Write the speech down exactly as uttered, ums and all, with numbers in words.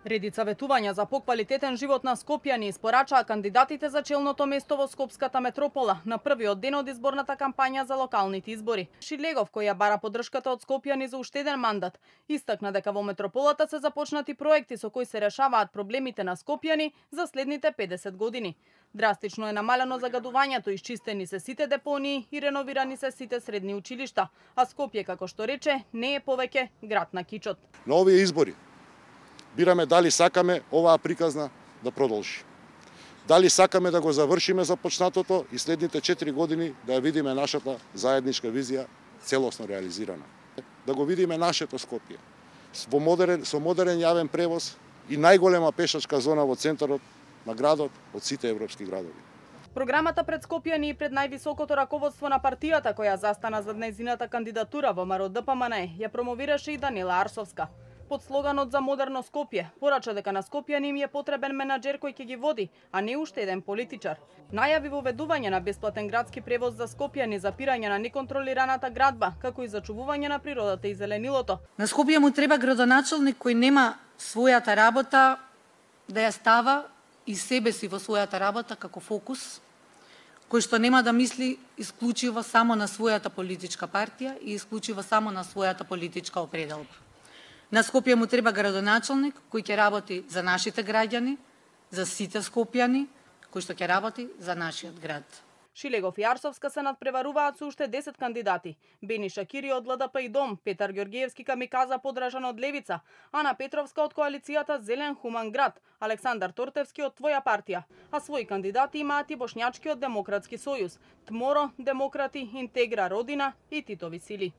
Редица ветувања за поквалитетен живот на скопјани испорачаа кандидатите за челното место во Скопската метропола на првиот ден од изборната кампања за локалните избори. Шилегов, кој ја бара поддршката од скопјани за уште еден мандат, истакна дека во метрополата се започнати проекти со кои се решаваат проблемите на скопјани за следните педесет години. Драстично е намалено загадувањето, исчистени се сите депонии и реновирани се сите средни училишта, а Скопје, како што рече, не е повеќе град на кичот. На овие избори бираме дали сакаме оваа приказна да продолжи. Дали сакаме да го завршиме започнатото и следните четири години да ја видиме нашата заедничка визија целосно реализирана. Да го видиме нашето Скопје во модерен, со модерен јавен превоз и најголема пешачка зона во центарот на градот од сите европски градови. Програмата пред скопјани и пред највисокото раководство на партијата која застана за нејзината кандидатура во МРО-ДПМН ја промовираше и Данила Арсовска. Под слоганот за модерно Скопје порача дека на скопјани им е потребен менаџер кој ќе ги води, а не уште еден политичар. Најави воведување на бесплатен градски превоз за скопјани, запирање на неконтролираната градба, како и зачувување на природата и зеленилото. На Скопје му треба градоначалник кој нема својата работа да ја става и себе си во својата работа како фокус, кој што нема да мисли исклучиво само на својата политичка партија и исклучиво само на својата политичка определба. На Скопје му треба градоначалник кој ќе работи за нашите граѓани, за сите скопјани, кој што ќе работи за нашиот град. Шилегов и Арсовска се надпреваруваат со уште десет кандидати. Бени Шакири од ЛДП и Дом, Петар Ѓорѓиевски камиказа подражан од Левица, Ана Петровска од коалицијата Зелен хуман град, Александар Тортевски од Твоја партија, а своји кандидати имаат и Бошњачкиот демократски сојуз, Тморо, Демократи, Интегра Родина и Титови сили.